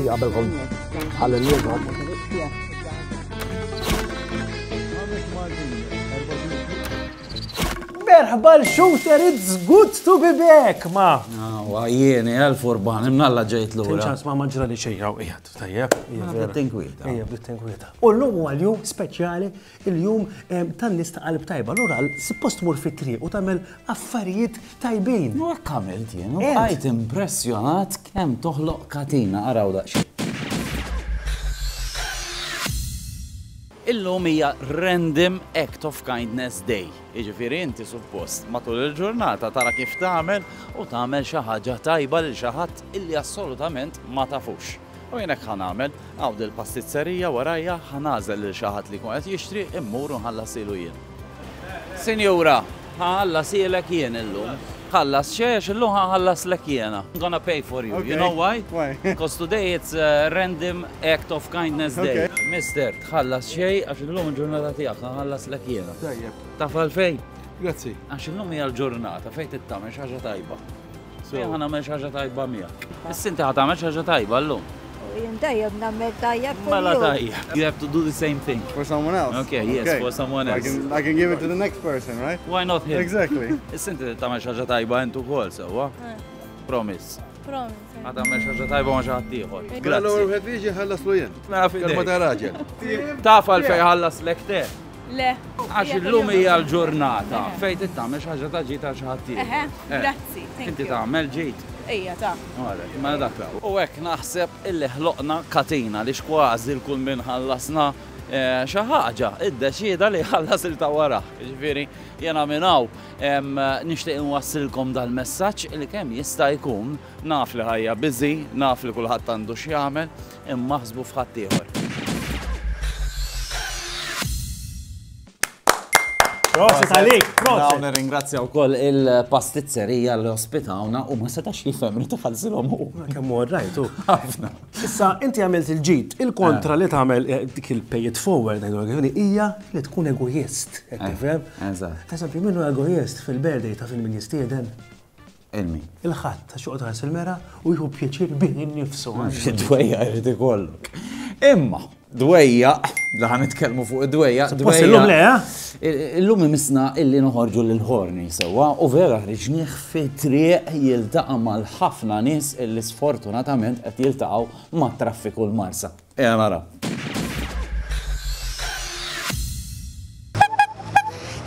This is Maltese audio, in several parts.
Qabel kont ħalli Merħba l-shooter, it's good to be back, ma. Għajjeni, għal-furban, imnalla ġejt l-ura. Ċans ma maġra li xejn hawn qiegħed, tajjeb. Bdiet tinkwieta. Ejja, bdiet tinkwieta. U llum huwa l-jum speċjali, il-jum tan-nies ta' qalb tajba. Allura suppost tmur fit-triq u tagħmel affarijiet tajbin. U hekk għamilt jien, u bqajt impressjonat kemm toħloq katina, araw daqsxejn. Illum hija Random Act of Kindness Day, jiġifieri inti suppost matul il-ġurnata tara kif tagħmel u tagħmel xi ħaġa tajba lil xi ħadd illi assolutament ma tafux. U jien hekk ħa nagħmel, hawn dil-pastizzerija warajja ħa nagħżel lil xi ħadd li jkun qed jixtri immur u nħallasilu jien. Sinjura, ħa nħallasielek jien illum. Tħallas xejn għax illum ħa nħallaslek jiena. I'm gonna pay for you. You know why? Why? Because today it's a random act of kindness day. Okay. Mister, tħallas xejn għax illum il-ġurnata tiegħek ħa nħallaslek jiena. Tajjeb. Taf għalfejn? Grazzi. Għax illum hija l-ġurnata fejn trid tagħmel xi ħaġa tajba. Jien ħa nagħmel xi ħaġa tajba miegħek. Issa inti ħa tagħmel xi ħaġa tajba llum. Jien dejjem nagħmel tajjeb Mela kuljum. tajjeb. You have to do the same thing. For someone else. Okay, yes, for someone I else. can, I can give it to the next person, right? Why not him? Exactly. Issa inti trid tagħmel xi ħaġa tajba int ukoll sewwa. Promise. Promise. Ħa tagħmel xi ħaġa tajba ma' xi ħadd ieħor. Mela l-ewwel Grazzi. wieħed li jiġi ħallaslu jien. Mela Kelma f'idejk. ta' raġel. Taf għalfejn ħallaslek te? Le. Għax illum hija l-ġurnata fejn trid tagħmel xi ħaġa ta' ġid għal xi ħadd ieħor. Eħe, Eh. grazzi, thank Inti you. tagħmel ġid. Ejja, ta. Għalek, mela dak raw. U hekk naħseb illi ħloqna katina li xkważi l-kull min ħallasna eh, xi ħaġa iddeċieda li ħallas il ta' wara. Jiġifieri jiena minn hawn em, nixtieq inwassilkom dal-messaġġ li kemm jista' jkun naf li ħajja busy, naf li kulħadd għandu x'jagħmel, imma ħsbu f'ħadd ieħor. Prosit għalik, Dawn prosit. nirringrazzja wkoll il-pastizzerija li ospitawna u ma setax jifhem li tħallsilhom hu. Kemm huwa rajt, hu. Ħafna. Issa, inti għamilt il-ġid, il-kontra li tagħmel eh, dik il-pay it forward, ngħidu għal hija li tkun egoist, qed tifhem? eżatt. Eżempju, minnu egoist fil-birthday ta' fil min jistieden, Ilmi. il-ħadd ta' xoqgħod ħares il-mera u jieħu pjaċir bih innifsu. Dwejja jrid ikollok. Imma, dwejja, li ħa nitkellmu fuq id-dwejja. Suppost illum le, eh? Illum imisna illi noħorġu lil ħorni sewwa u vera ħriġnieh fit-triq jiltaqa' mal-ħafna nies illi sfortunatament qed jiltaqgħu mat-traffiku l-Marsa. Ejja naraw.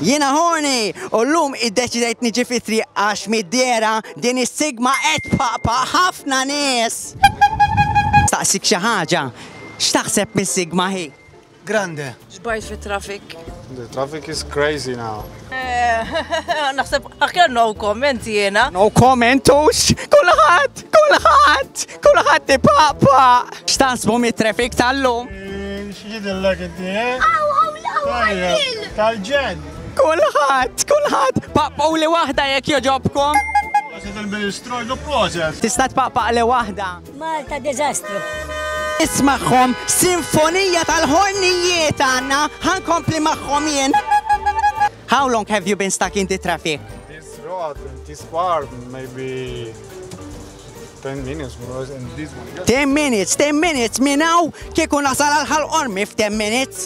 Jiena Horny u llum iddeċidejt niġi fit-triq għax mid-dehra din is-sigma qed tpaqpaq ħafna nies. Staqsik xi ħaġa, x'taħseb mis-sigma hi? Grande. Xbajt fit-traffic. The traffic is crazy now. Naħseb aħjar no comment jiena. No comment hux! Kulħadd, kulħadd, kulħadd ipaqpaq! X'taħsbu mit-traffic tal-lum? X'jidillek inti, eh? Tajjeb, Tal-ġen. Kulħadd, kulħadd, paqpquli waħda jekk jogħġobkom. Proset il-Ministru, jgħidu proset. Tista' tpaqpaqli waħda. Malta diżastru. Ismagħhom, sinfonija tal-ħornijiet għandna, ħa nkompli magħhom jien. How long have you been stuck in the traffic? This road, this part, maybe 10 minutes, and this one. 10 minutes, 10 minutes, minn hawn kieku nasal għal Ħal Qormi f'10 minutes.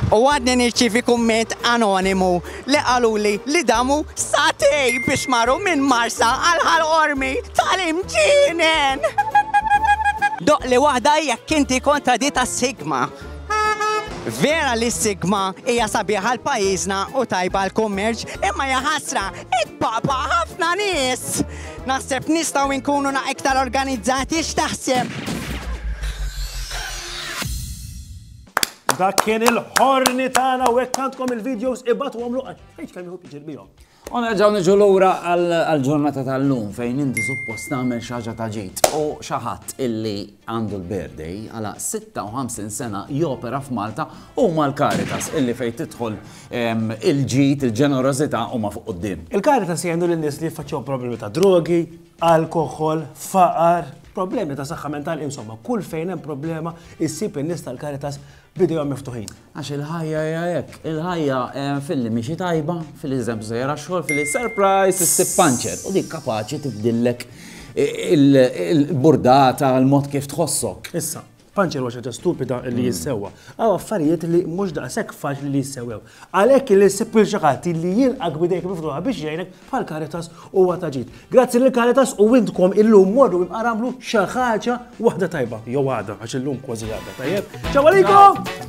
U għadni nirċivi kumment anonimu li qaluli li damu sagħtejn biex marru minn Marsa għal Ħal Qormi tal-imġienen. Doqqli waħda jekk inti kontra di tas-Sigma. Vera li s-Sigma hija sabiħa għal pajjiżna u tajba għal kummerċ, imma hija ħasra itpaqpaq ħafna nies. Naħseb nistgħu nkunu na iktar organizzati x'taħseb? Dak kien il-ħorni tagħna u hekk għandkom il-videos ibgħatu għamlu għax kemm jieħu pjaċir bihom. U nerġgħu niġu lura għall-ġurnata tal-lum fejn inti suppost tagħmel xi ħaġa ta' ġid u xi ħadd illi għandu l-birthday għala 56 sena jopera f'Malta huma l-Caritas illi fejn tidħol il-ġid, il-ġenerożità huma fuq quddiem. Il-Caritas jgħinu lin-nies li jiffaċċjaw problemi ta' drogi, alkoħol, faqar, problemi ta' saħħa mentali, insomma, kull fejn hemm problema issib in-nies tal-Caritas b'idejhom miftuħin. Għax il-ħajja hija hekk, il-ħajja filli mixi tajba, filli eżempju sejra xogħol, filli surprise issib puncture u dik kapaċi tibdillek il-burdata, il-mod kif tħossok. Issa, Panċer huwa xi ħaġa stupida li jissewwa. Hawn affarijiet li mhux daqshekk faċli li jissewwew. Għalhekk li ssib lil xi ħadd li jilqak b'idejk miftuħa biex jgħinek bħal Caritas huwa ta' ġid. Grazzi lil Caritas u intkom illum morru imqar għamlu xi ħaġa waħda tajba jew għada għax illum kważi għada, tajjeb? Ciao għalikom!